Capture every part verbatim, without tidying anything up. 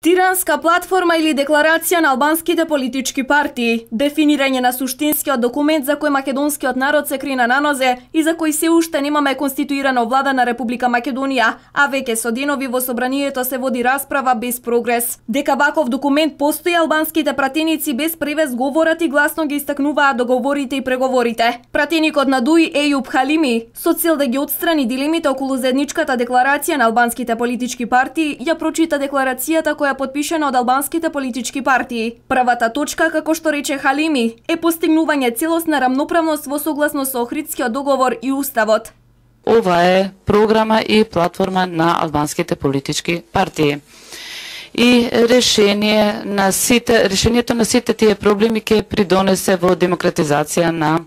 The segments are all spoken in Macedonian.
Тиранска платформа или декларација на албанските политички партии, дефинирање на суштинскиот документ за кој македонскиот народ се крина на нозе и за кој се уште немаме конституирана влада на Република Македонија, а веќе со денови во собранието се води расправа без прогрес. Дека ваков документ постои, албанските пратеници без превес говорат и гласно ги истакнуваат договорите и преговорите. Пратеникот на ДУИ Ејуб Халими, со цел да ги отстрани дилемите околу заедничката декларација на албанските политички партии, ја прочита декларацијата која подпишена од албанските политички партии. Првата точка, како што рече Халими, е постигнување целосна рамноправност во согласно со Охридскиот договор и Уставот. Ова е програма и платформа на албанските политички партии. И решение на сите, решението на сите тие проблеми ќе придонесе во демократизација на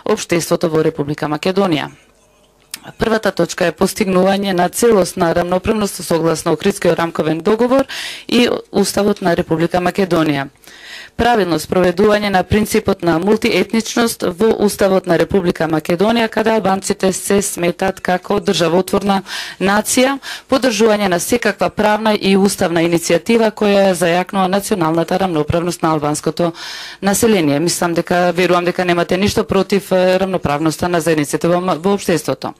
општеството во Република Македонија. Првата точка е постигнување на целосна рамноправност согласно Охридскиот рамковен договор и Уставот на Република Македонија. Правилно спроведување на принципот на мултиетничност во Уставот на Република Македонија, каде албанците се сметат како државотворна нација, поддржување на секаква правна и уставна иницијатива која зајакнува националната рамноправност на албанското население. Мислам дека, верувам дека немате ништо против рамноправноста на заедниците во, во општеството.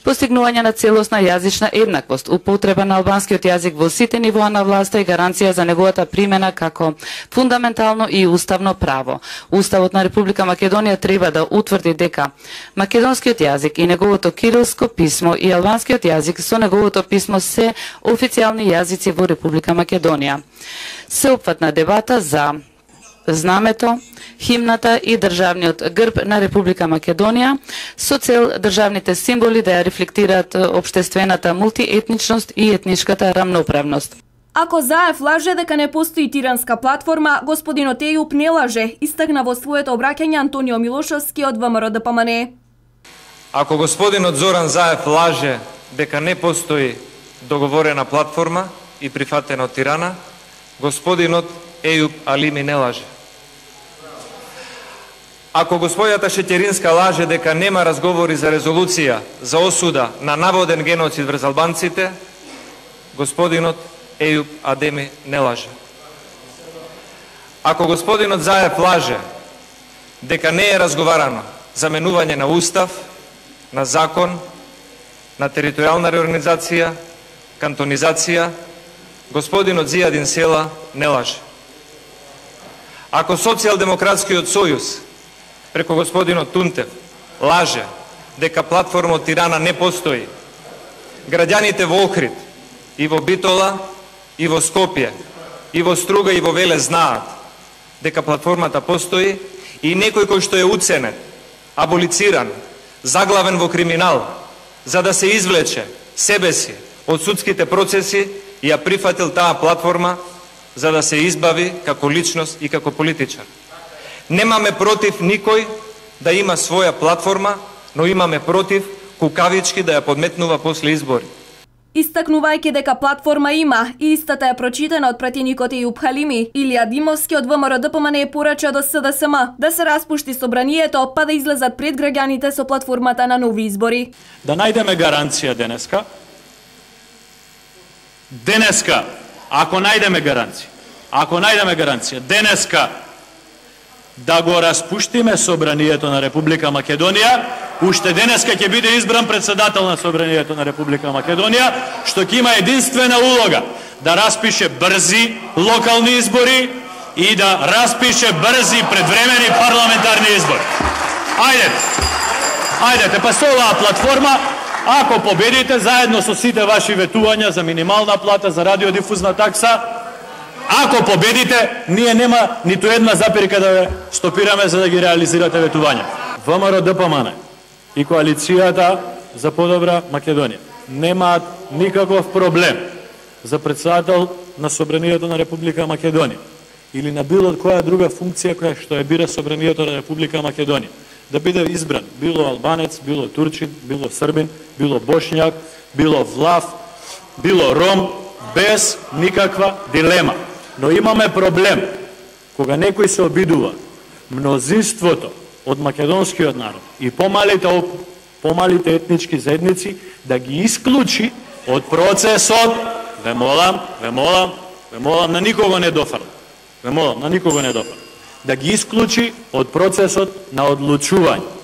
Постигнување на целосна јазична еднаквост, употреба на албанскиот јазик во сите нивоа на власта и гаранција за неговата примена како фундаментално и уставно право. Уставот на Република Македонија треба да утврди дека македонскиот јазик и неговото кирилско писмо и албанскиот јазик со неговото писмо се официјални јазици во Република Македонија. Сеопфатна дебата за знамето, химната и државниот грб на Република Македонија со цел државните символи да ја рефлектираат општествената мултиетничност и етничката рамноправност. Ако Заев лаже дека не постои тиранска платформа, господинот Ејуб не лаже, истакна во своето обраќање Антонио Милошовски од ВМРО Д П М Н. Ако господинот Зоран Заев лаже дека не постои договорена платформа и прифатена од Тирана, господинот Ејуб Алими не лаже. Ако господјата Шеќеринска лаже дека нема разговори за резолуција за осуда на наводен геноцид врз албанците, господинот Ејуб Адеми не лаже. Ако господинот Заев лаже дека не е разговарано за менување на устав, на закон, на територијална реорганизација, кантонизација, господинот Зијадин Села не лаже. Ако Социјалдемократскиот сојуз преку господинот Тунтев лаже дека платформа од Тирана не постои, граѓаните во Охрид и во Битола и во Скопје и во Струга и во Велес знаат дека платформата постои и некој кој што е уценет, аболициран, заглавен во криминал, за да се извлече себе си од судските процеси, ја прифатил таа платформа за да се избави како личност и како политичар. Немаме против никој да има своја платформа, но имаме против кукавички да ја подметнува после избори. Истакнувајќи дека платформа има, и истата е прочитана од пратеникот Ејуб Халими, Илија Димовски од ВМРО Д П М Н порача до С Д С М да се распушти собранието, па да излезат пред граѓаните со платформата на нови избори. Да најдеме гаранција денеска. Денеска, ако најдеме гаранција, ако најдеме гаранција, денеска да го распуштиме собранието на Република Македонија, уште денеска ќе биде избран председател на собранието на Република Македонија, што ќе има единствена улога да распише брзи локални избори и да распише брзи предвремени парламентарни избори. Ајдете, ајдете, па со оваа платформа, ако победите заедно со сите ваши ветувања за минимална плата, за радиодифузна такса, ако победите, ние нема ниту една запирка да ве стопираме за да ги реализирате ветувања. ВМРО Д П М Н и коалицијата за подобра Македонија немаат никаков проблем за председател на собранието на Република Македонија или на било која друга функција која што ја бира собранието на Република Македонија да биде избран, било албанец, било турчин, било србин, било бошњак, било влав, било ром, без никаква дилема. Но имаме проблем кога некој се обидува мнозинството од македонскиот народ и помалите, помалите етнички заедници да ги исклучи од процесот, ве молам, ве молам, ве молам на никого не дофрли, ве молам на никого не дофрли, да ги исклучи од процесот на одлучување.